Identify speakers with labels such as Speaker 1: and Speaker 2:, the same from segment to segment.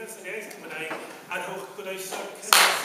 Speaker 1: Gymdeithas yr Iaith Gymraeg, a rhowch groeso cynnes.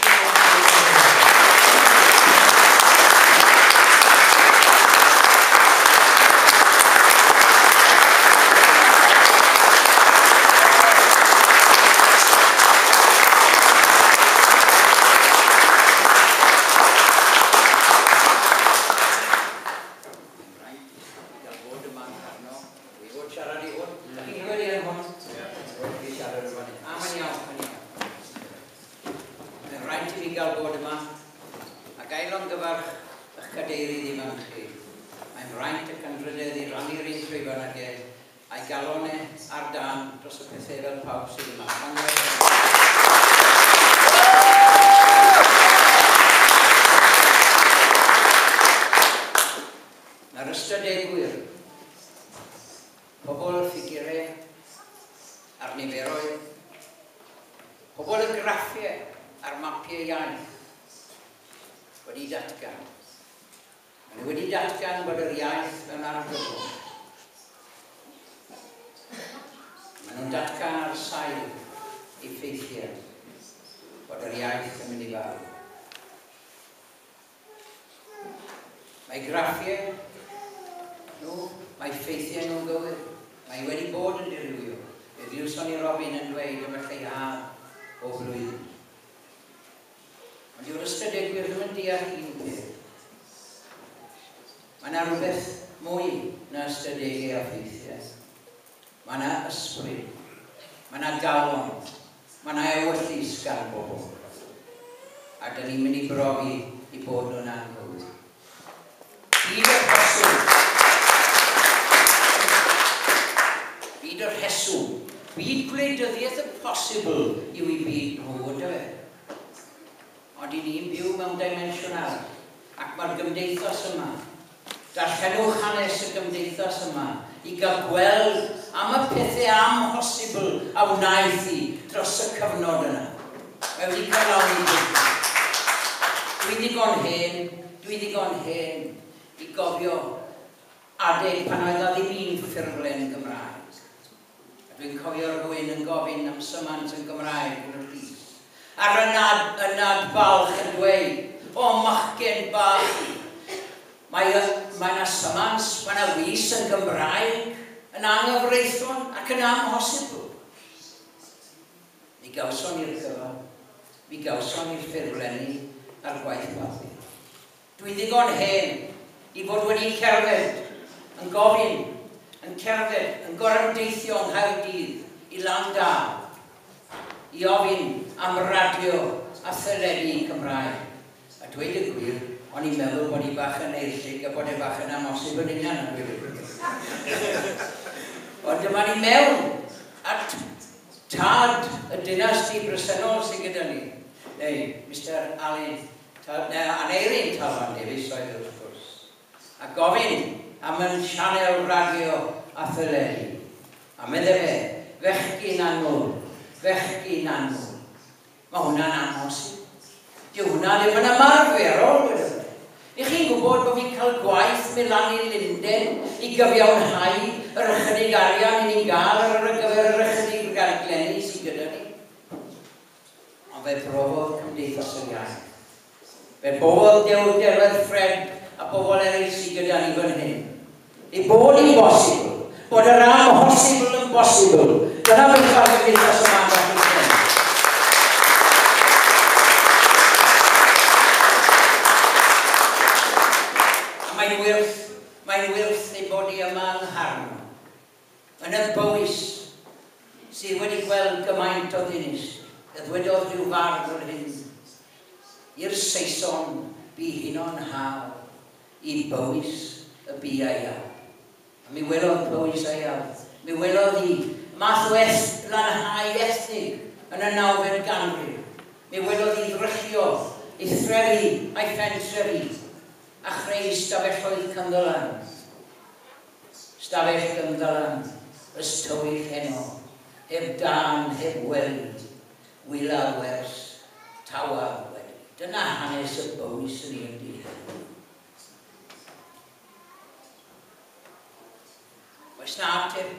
Speaker 2: Oes na ateb?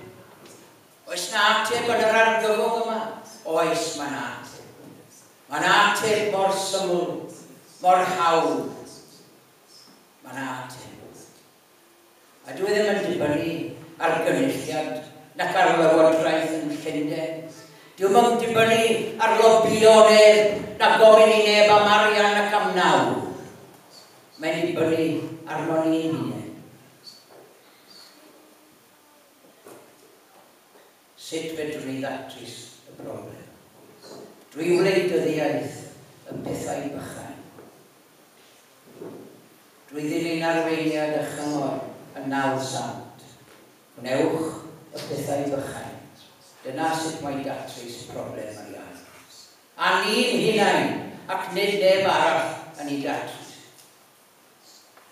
Speaker 2: Oes na ateb yn yr argyfwng yma? Oes, mae'n ateb. Mae'n ateb mor syml, mor hawdd. Mae'n ateb. A dwi ddim yn dibynnu ar gynulliad nac ar lywodraeth yn Llundain. Dwi ddim yn dibynnu ar lobio neb, na gofyn i neb am arian ac am nawdd. Mae'n dibynnu arno ni'n hunain. Sut fedrwn ni ddatrys y broblem? Drwy wleidyddiaeth y pethau bychain. Drwy ddilyn arweiniad a chyngor y nawdd sant. Gwnewch y pethau bychain. Dyna sut mae datrys problem yr iaith. A ni'n hunain, ac nid neb arall yn ei datrys.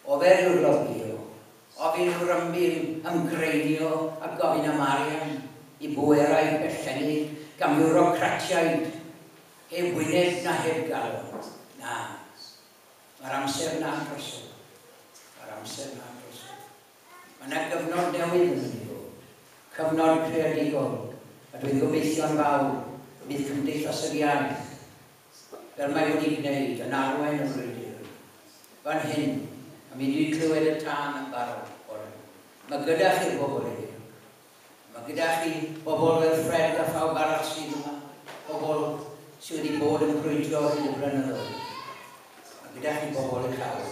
Speaker 2: Ofer yw'r lobio, ofyn yw'r ymgreinio a gofyn am arian i bwerau pellennig gan biwrocratiaid heb wyneb na heb galon. Na, mae'r amser na'n drosodd. Mae'r amser na'n drosodd. Mae yna gyfnod newydd yn mynd i ddod. Cyfnod creadigol. A dwi'n gobeithio'n fawr bydd Cymdeithas yr Iaith, fel mae wedi gwneud, yn arwain y frwydr. Fan hyn, a mi wedi clywed y tân yn barod bore. Mae gyda chi'r bobl heddiw. Mae gyda chi bobl fel Fred a phawb arall sydd yma. Bobl sydd wedi bod yn brwydro hyd y blynyddoedd. Mae gyda chi bobl i'ch hawl.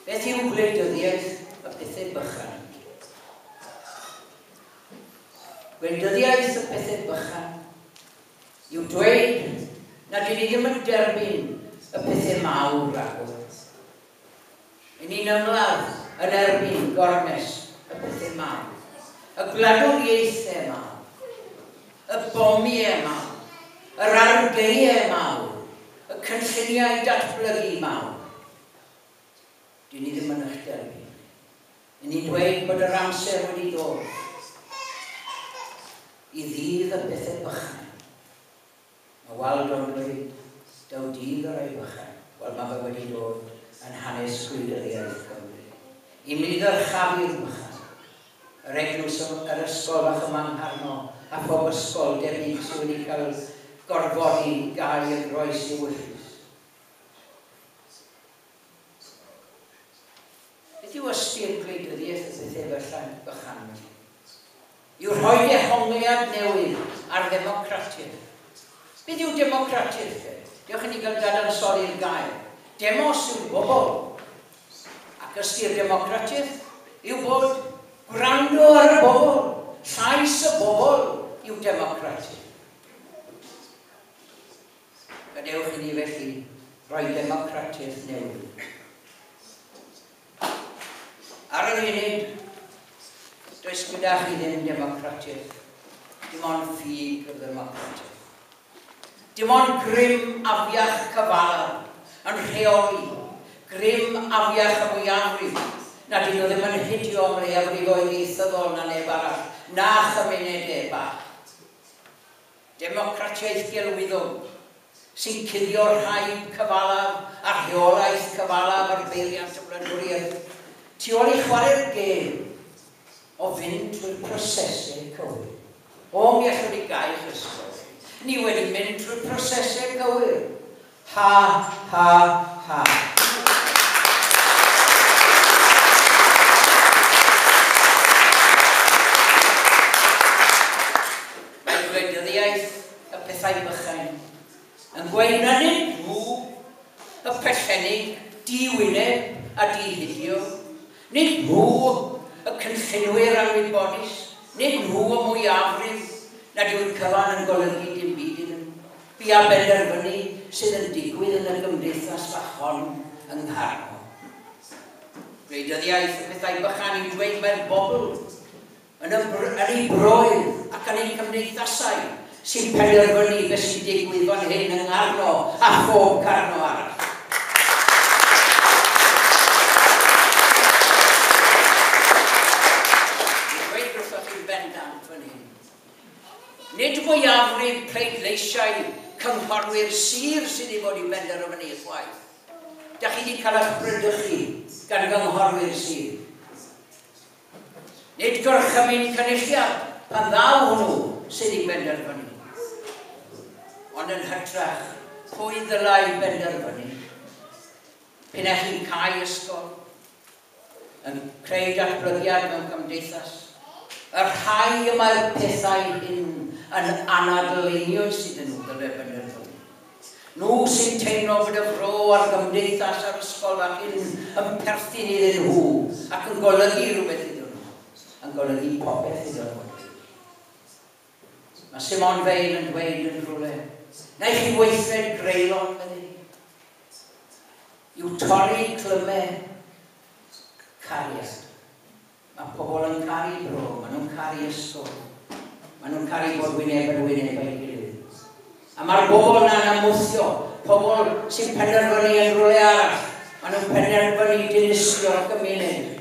Speaker 2: Beth yw gwleidyddiaeth y pethau bychan? Gwleidyddiaeth y pethau bychan yw dweud nad ydyn ni ddim yn derbyn y pethau mawr rhagor. Yn ni'n ymladd yn erbyn gormes y pethau mawr. Y gwladwriaethau mawr, y bomiau mawr, yr argaeau mawr, y cynlluniau datblygu mawr. Dyn ni ddim yn eich derbyn. Yn ni'n dweud bod yr amser wedi dod i ddydd y pethau bychain. Mae Waldo'n dweud, daw dydd o'r rhai bychain. Wel, mae fe wedi dod yn hanes gwleidyddiaeth Cymru. I mi ddyrchafu'r bychan. Yr eglwys, yr ysgol fach yma yng Ngharno, a phob ysgol debyg sydd wedi cael gorfodi gau y groes i'w ewyllys. Beth yw ystyr gwleidyddiaeth y pethau bychan felly? Yw rhoi dehongliad newydd ar ddemocratiaeth. Beth yw democratiaeth? Diolch i ni gael dadansoddi'r gair. Demos yw'r bobl. Ac ystyr democratiaeth yw bod gwrando ar y bobl. Llais y bobl yw democratiaeth. Gadewch i ni felly roi democratiaeth newydd. Ar yr unig, does gyda chi ddim democratiaeth. Dim ond ffug y ddemocratiaeth. Dim ond grym afiach cyfalaf yn rheoli, grym afiach y mwyafrif, nad ydyn nhw ddim yn hidio am leiafrifoedd ieithyddol na neb arall, na chymunedau bach. Democratiaeth gelwyddog sy'n cuddio'r rhaid cyfalaf a rheolaeth cyfalaf ar beiriant y wladwriaeth. Tu ôl i chwarae'r gêm o fynd trwy'r prosesau cywir. O, mi allwn ni gau'ch ysgol. Ni wedi mynd trwy'r prosesau cywir. Ha, ha, ha. Mae gwleidyddiaeth y pethau bychain yn gweud na nid nhw, y pellennig, di-wyneb a di-hidio. Nid nhw, y cynllunwyr anwybodus, nid nhw y mwyafrif, nad yw'r cyfan yn golygu dim byd iddyn nhw. Bu a benderfynu sydd yn digwydd yn y gymdeithas fach hon yng Ngharno. Gwleidyddiaeth y pethau bychan yw dweud mae'r bobl yn ei broedd ac yn ei cymdeithasau sy'n penderfynu beth sy'n digwydd fan hyn yng Ngharno a phob Carno arall. Dwi'n dweud wrthoch chi'n bendant fan hyn. Nid mwyafrif pleidleisiau cynghorwyr sir sydd i fod i benderfynu chwaith. Da chi wedi cael eich brydychu gan gynghorwyr sir. Nid gorchymyn cynulliad pan ddaw hwnnw sydd i benderfynu. Ond yn hytrach, pwy ddylai benderfynu? P'un ai chi'n cau ysgol, yn creu datblygiad mewn cymdeithas, y rhai y mae'r pethau hyn yn anadl einioes iddyn nhw ddylai benderfynu. Nhw sy'n teimlo bod y fro a'r gymdeithas a'r ysgol ac hyn yn perthyn iddyn nhw ac yn golygu rhywbeth iddyn nhw, yn golygu popeth iddyn nhw. Mae Simone Weil yn dweud yn rhywle, na i chi weithred greulon, medde hi, yw torri clymau cariad. Mae pobl yn caru bro, maen nhw'n caru ysgol, maen nhw'n caru bod wyneb yn wyneb â'i gilydd. A mae'r bobl yna'n ymwthio, pobl sy'n penderfynu yn rhywle arall, maen nhw'n penderfynu dinistrio'r gymuned.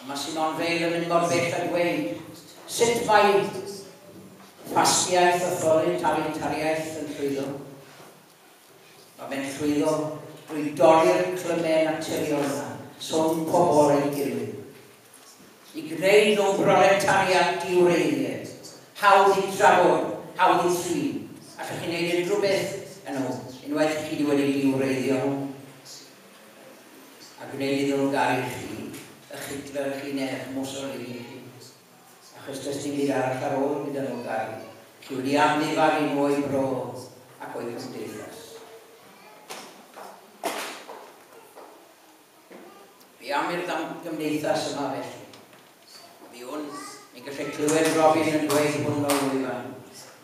Speaker 2: A mae Simone Weil yn mynd mor bell a dweud, sut mae ffasgiaeth authoritariaeth yn llwyddo? Mae fe'n llwyddo drwy dorri'r clymau naturiol yna, rhwng pobl ei gilydd. I gwneud nhw'n broletariat diwreiddiau, hawdd i drafod, hawdd i thrin. Allwch chi wneud unrhyw beth yn nhw, unwaith chi wedi diwreiddio nhw. A gwneud iddyn nhw garu chi, eich Hitler chi neu eich Mussolini chi. Achos does dim byd arall ar ôl gyda nhw garu. Chi wedi amddifadu nhw o'i bro ac o'i cymdeithas. Fi am i'r gymdeithas yma felly. Fi hwn, ni'n gallu clywed Robin yn dweud hwn o'r lwyfan.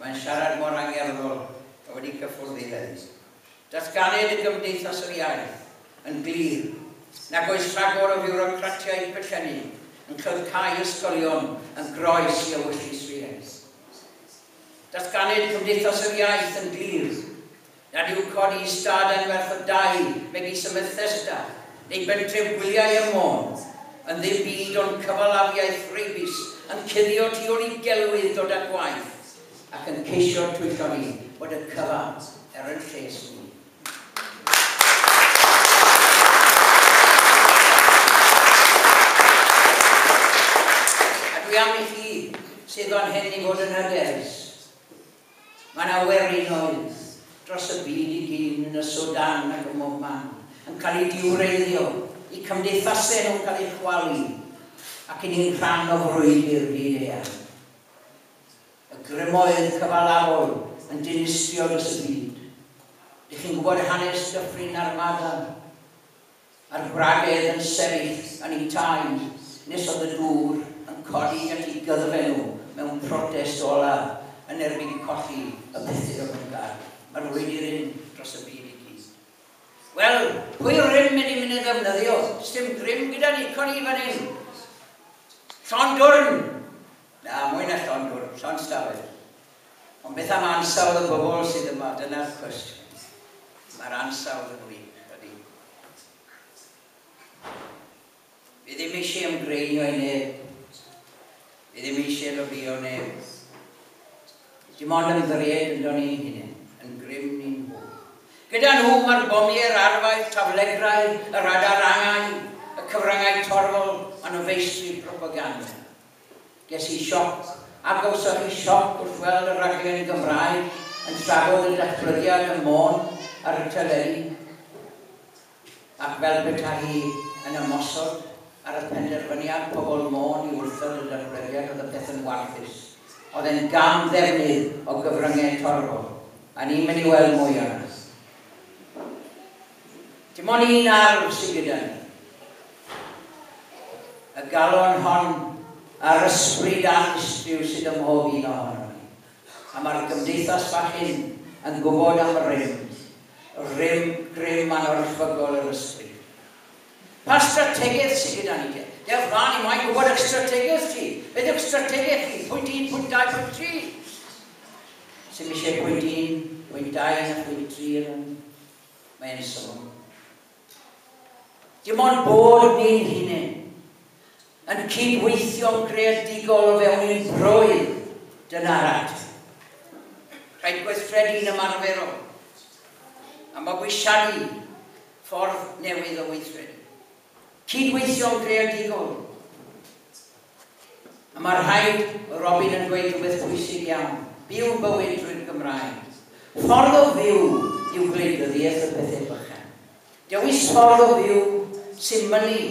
Speaker 2: Mae'n siarad mor angerddol, a wedi cyffwrdd i heddi. Datganed y Gymdeithas yr Iaith yn glir, nag oes rhagor o fiwrocratiaid pellenni yn cau ysgolion yn groes i ewyllys rhieni. Datganed Cymdeithas yr Iaith yn glir, nad yw codi ystad anferth o dai megis y Bethesda neu bentref gwyliau ym Môn yn ddim byd ond cyfalafiaeth reibus yn cuddio tu ôl i gelwydd dod â gwaith ac yn ceisio twyllo ni bod y cyfan er yn lles ni. A dwi am i chi sydd fan hyn i fod yn hyderus. Mae yna werinoedd dros y byd i gyd yn y Sudan ac ym mhob man yn cael eu diwreiddio, i cymdeithasau nhw'n cael eu chwalu, ac i ni'n rhan o frwydr byd eang. Y grymoedd cyfalafol yn dinistrio dros y byd. Dych chi'n gwybod hanes Dyffryn Narmada? A'r gwragedd yn sefyll yn eu tai nes oedd y dŵr yn codi at eu gyddfe nhw mewn protest olaf yn erbyn colli y pethau o'n nhw'n gael. Mae'r frwydr un dros y byd i gyd. Wel, pwy rym mynd i mynd i ddefnyddio? Sdim grym gyda ni, codi fan hyn. Llond dwrn! Na, mwy na llond dwrn, llond stafell. Ond beth am ansawdd y bobl sydd yma? Dyna'r cwestiwn. Mae'r ansawdd yn wych, ydy. Fi ddim eisiau ymgreinio i neb. Fi ddim eisiau lobio neb. Dim ond ymddiried ynddo ni hunain, yn grym ni'n nhw. Gyda nhw mae'r bomiau'r arfau, taflegrau, yr adarangau, y cyfryngau torfol, a nhw feistri propaganda. Ges i sioc, a gawsoch chi sioc wrth weld y rhaglen Gymraeg yn trafod y datblygiad ym Môn ar y teledu, ac fel petai hi yn ymosod ar y penderfyniad pobl Môn i wrthod y datblygiad, oedd y peth yn warthus. Oedd e'n gam ddefnydd o gyfryngau torfol, a ni'n mynd i weld mwy arno. Dim ond un arf sydd gyda ni. Y galon hon a'r ysbryd anystryw sydd ym mhob un ohono ni. A mae'r gymdeithas fach hyn yn gwybod am rym, rym grym anorchfygol yr ysbryd. Pa strategaeth sydd gyda ni te? Dewch mlaen i moyn gwybod eich strategaeth chi. Beth yw'ch strategaeth chi? Pwynt 1, pwynt 2, pwynt 3. Sy'n eisiau pwynt 1, pwynt 2 a pwynt 3 yn mae'n syml. Dim ond bod ni'n hunain yn cydweithio'n greadigol o fewn ein broedd, dyna'r ateb. Rhaid gweithredu'n ymarferol a mabwysiadu ffordd newydd o weithredu. Cydweithio'n greadigol. A mae rhaid, Robin yn dweud rhywbeth pwysig iawn, byw bywyd drwy'r Gymraeg. Ffordd o fyw yw gwleidyddiaeth y pethau bychan. Dewis ffordd o fyw sy'n mynnu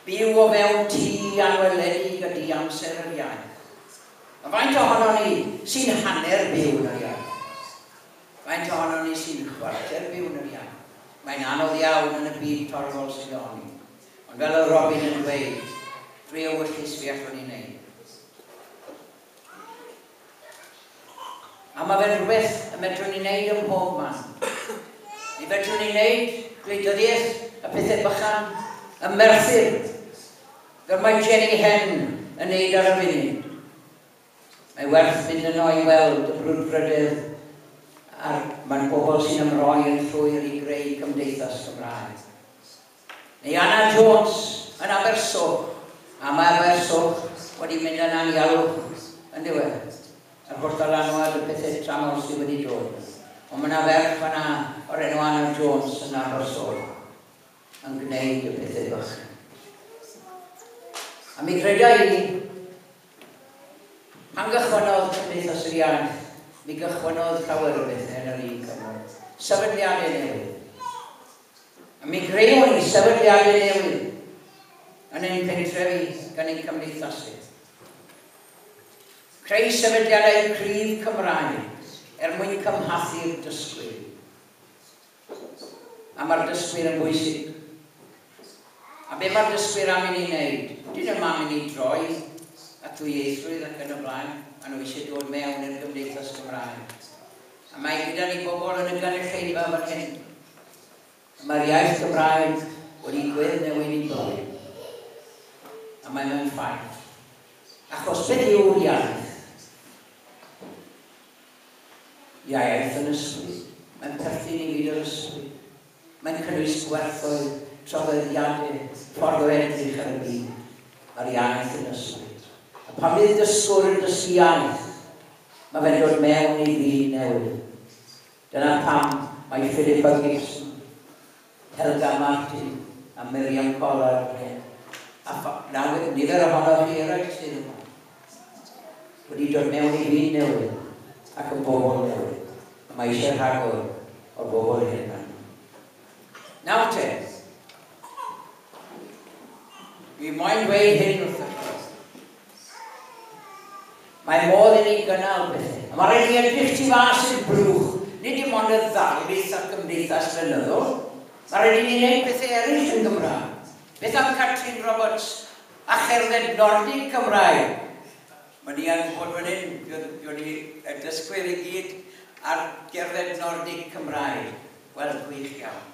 Speaker 2: byw o fewn tŷ anweledig ydy amser yr iaith. A faint ohono ni sy'n hanner byw yn yr iaith? Faint ohono ni sy'n chwarter byw yn yr iaith? Mae'n anodd iawn yn y byd torfol sydd ohoni. Ond fel oedd Robin yn dweud, drwy ewyllys fi allwn ni wneud. A mae fe'n rhywbeth y medrwn ni wneud ym mhob man. Mi fedrwn ni wneud gwleidyddiaeth, y pethau bychan, y Merthyr, fel mae Jenny Hen yn wneud ar y funud. Mae werth mynd yno i weld y brwdfrydedd a'r mae'n bobl sy'n ymroi yn llwyr i greu cymdeithas Gymraeg. Neu Anna Jones yn Abersoch, a mae Abersoch wedi mynd yn anialwch yn diwedd. Yr holl ddylanwad y pethau tramor sydd wedi dod. Ond mae yna ferch fan'na o'r enw Anna Jones yn Abersoch yn gwneud y pethau bychan. A mi greda i, pan gychwynnodd Cymdeithas yr Iaith, mi gychwynnodd llawer o bethau yn yr un cyfnod. Sefydliadau newydd. A mi greuon ni sefydliadau newydd yn ein pentrefi gan ein cymdeithasu. Creu sefydliadau cryf Cymraeg er mwyn cymhathu'r dysgwyr. A mae'r dysgwyr yn bwysig. A be mae'r dysgwyr am i ni wneud? Dyn nhw'm am i ni droi at ddwyieithrwydd ac yn y blaen, a nhw eisiau dod mewn i'r gymdeithas Gymraeg. A mae gyda ni bobl yn y gynulleidfa fan hyn. Mae'r iaith Gymraeg wedi gweddnewid i bywyd. A mae mewn ffaith. Achos beth yw'r iaith? Iaith yn ysbryd. Mae'n perthyn i fyd yr ysbryd. Mae'n cynnwys gwerthoedd, traddodiadau, ffordd o edrych ar y byd. Mae'r iaith yn ysbryd. A pan fydd dysgwr yn dysgu iaith, mae fe'n dod mewn i fyd newydd. Dyna pam mae Philippa Gibson, Helga Martin a Miriam Collard fan hyn. A nawr, nifer ohonoch chi eraill sydd yma wedi dod mewn i fyd newydd ac yn bobl newydd. A mae eisiau rhagor o'r bobl hyn yma. Nawr te, dwi moyn dweud hyn wrthych chi. Mae modd i ni gynnal pethau. A mae rhaid i ni edrych tu fas i'r blwch, nid dim ond y ddarlith a'r gymdeithas flynyddol. Mae rhaid i ni wneud pethau eraill yn Gymraeg. Beth am Catrin Roberts a cherdded Nordic Cymraeg? Mae ni yn gwybod fan hyn, fuon ni y dysgwyr i gyd ar gerdded Nordic Cymraeg. Wel, gwych iawn.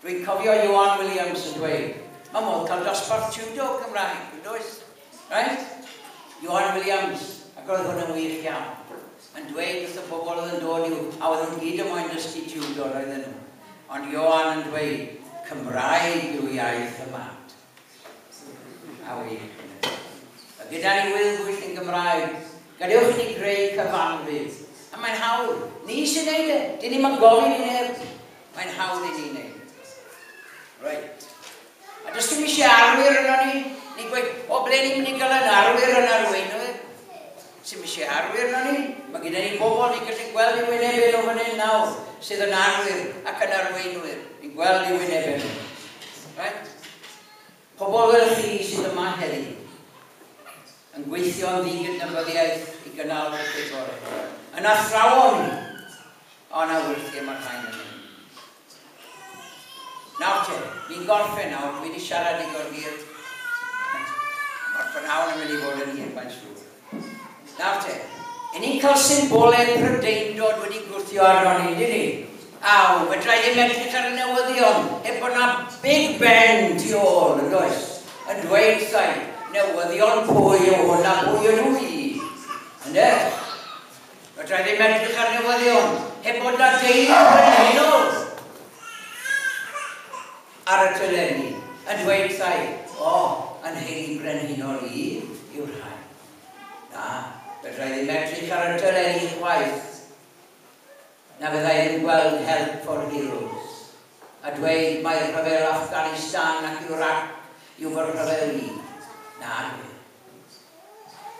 Speaker 2: Dwi'n cofio Ioan Williams yn dweud, mae modd cael dosbarth judo Cymraeg, yn does? Right? Ioan Williams, ac oedd hwn yn wych iawn, yn dweud wrth y bobl oedd yn dod i'w, a oedd nhw'n gyd yn moyn dysgu judo, roedden nhw. Ond Ioan yn dweud, Cymraeg yw iaith y mat. A wych. A gyda ni wyddbwyll yn Gymraeg, gadewch i ni greu cyfanfyd. A mae'n hawdd. Ni sy'n neud e. Dyn ni'm yn gofyn i neb. Mae'n hawdd i ni wneud. Reit. A does dim eisiau arwyr yno ni. Ni'n gweud, o ble ni'n mynd i gael yn arwyr yn arweinwyr? Sy'm eisiau arwyr yno ni. Mae gyda ni bobl ni'n gallu gweld i wynebau nhw fan hyn nawr, sydd yn arwyr ac yn arweinwyr. Ni'n gweld i wynebau nhw. Right? Pobl fel chi sydd yma heddi, yn gweithio yn ddigydnabyddiaeth i gynnal y pethau. Yn athrawon, o na wyrthiau mae'r rhain yn mynd. Nawr te, ni'n gorffen nawr, dwi wedi siarad digon hir. Mae'r prynhawn yn mynd i fod yn hir, mae'n siŵr. Nawr te, i ni'n cael symbolau Prydeindod wedi gwthio arno ni, dyn ni? Aw, fedra i ddim edrych ar y newyddion, heb bod na Big Ben tu ôl, yn does? Yn dweud sai, newyddion pwy yw hwn a pwy ydw i? Ynde? Fedra i ddim edrych ar newyddion, heb bod na deulu brenhinol ar y teledu, yn dweud sai, o, yn heili brenhinol i yw'r rhai. Na, fedra i ddim edrych ar y teledu chwaith, na fydda i ddim gweld Help for Heroes, a dweud mai rhyfel Afghanistan ac Iraq yw fy rhyfel i. Na, dwi.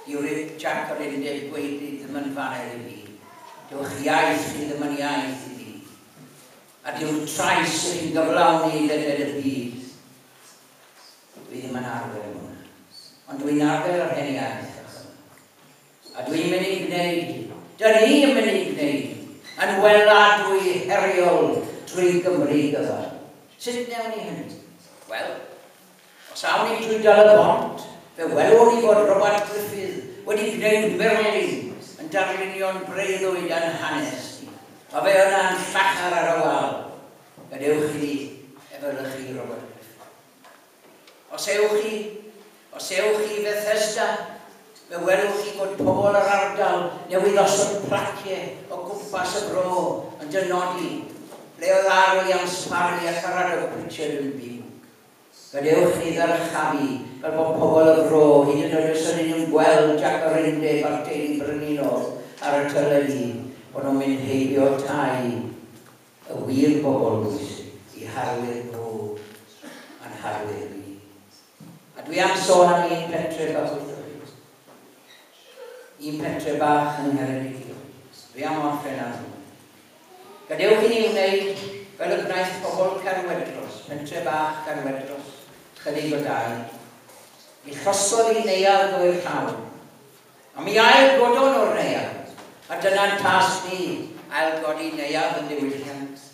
Speaker 2: Dyw'r Jac yr Undeb gweiddi ddim yn faner i fi. Dyw'ch iaith chi ddim yn iaith i fi. A dyw'r trais ych chi'n gyflawni ledled y byd. Dwi ddim yn arfer hwnna. Ond dwi'n arfer yr hen iaith. A dwi'n mynd i gwneud, dyn ni yn mynd i gwneud, yn weladwy heriol drwy Gymru gyfan. Sut wnewn ni hynny? Wel, os awn ni drwy Dal y Bont, fe welwn ni fod Robert Gruffydd wedi gwneud murlun yn darlunio'n breuddwyd yn hanes ni. Mae fe yna'n llachar ar y wal. Gadewch i ni efelychu Robert Gruffydd. Os ewch chi Bethesda, fe welwch chi fod pobl yr ardal newydd osod placiau o gwmpas y bro yn dynodi ble oedd R. Williams Parry a Caradog Prichard yn byw. Gadewch ni ddyrchafu fel bod pobl y fro, hyd yn oed os ydyn nhw'n gweld Jac yr Undeb a'r teulu brenhinol ar y teledu, bod nhw'n mynd heibio tai y wir bobl bwysig i harwyr nhw a'n harwyr ni. A dwi am sôn am un pentre bach wrthoch chi. Un pentre bach yng Ngheredigion. Dwi am orffen ar hwn. Gadewch i ni wneud fel y gwnaeth pobl Caerwedros, pentre bach Caerwedros, chydig o dai. Mi llosgodd i neuadd o'r llawn. A mi ail godon o'r neuadd. A dyna'n tasg ni, ailgodi neuadd yn ddiwylliant.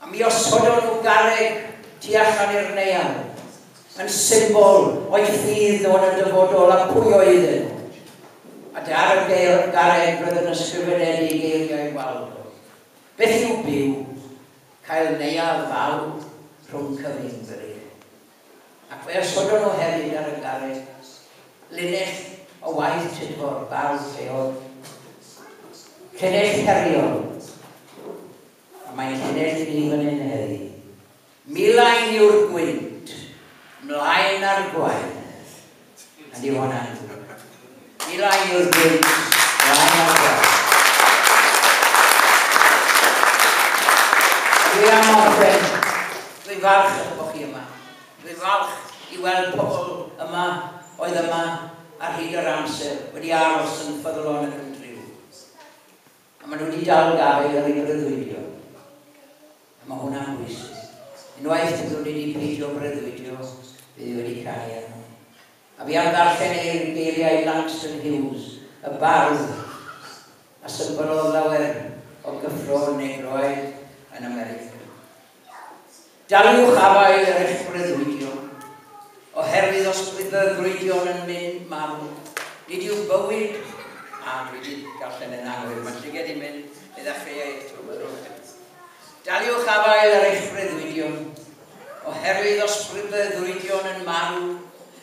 Speaker 2: A mi osodon nhw garreg tu allan i'r neuadd, yn symbol o'i ffydd nhw yn y dyfodol a pwy oedden nhw. A ar y garreg roedd yn ysgrifenedig geiriau Waldo. Beth yw byw? Cael neuadd fawr rhwng cyfyng brig. Ac fe osodon nhw hefyd ar y garreg linell o waith Tudfor, bardd lleol. Llinell heriol. A mae'n llinell i ni fan hyn heddi. Milain yw'r gwynt, mlaen ar gwaith. A di hwnna'n ddrwg. Milain yw'r gwynt, mlaen ar gwaith. Dwi am orffen. Dwi'n falch bod chi yma. Dwi'n falch i weld pobl yma, oedd yma ar hyd yr amser, wedi aros yn ffyddlon ac yn driw. A maen nhw wedi dal gafael ar eu breuddwydio. A mae hwnna'n bwysig. Unwaith byddwn ni wedi peidio breuddwydio, bydd wedi cau arno. A fi am ddarllen eir geiriau Langston Hughes, y bardd, a symbylodd lawer o gyffro negroaid yn America. Daliwch afael ar eich breuddwydion, oherwydd os bydd breuddwydion yn mynd marw, nid yw bywyd, a dwi wedi darllen yn anghywir, mae'n llygad i'n mynd, fe ddechreuai eto. Daliwch afael ar eich breuddwydion, oherwydd os bydd breuddwydion yn marw,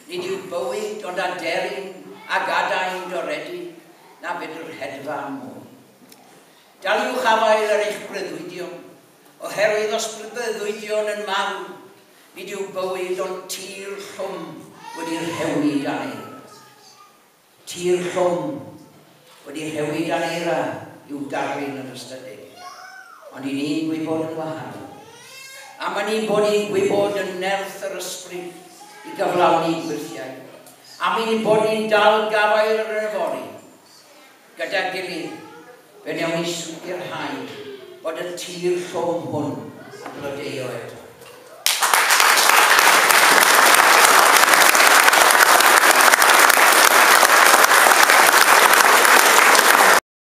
Speaker 2: nid yw bywyd ond aderyn ac adain doredig, na fedr hedfan mwy. Daliwch afael ar eich breuddwydion, oherwydd os bydd breuddwydion yn marw, nid yw bywyd ond tir llwm wedi rhewi dan eira. Tir llwm wedi rhewi dan eira yw darlun yr ystadeg. Ond i ni'n gwybod yn wahanol. A mae ni'n bod ni'n gwybod yn nerth yr ysbryd i gyflawni gwyrthiau. A mi ni'n bod ni'n dal gafael ar yr yfory. Gyda gilydd, fe wnawn ni sicrhau bod y tir llwm hwn yn blodeuo eto.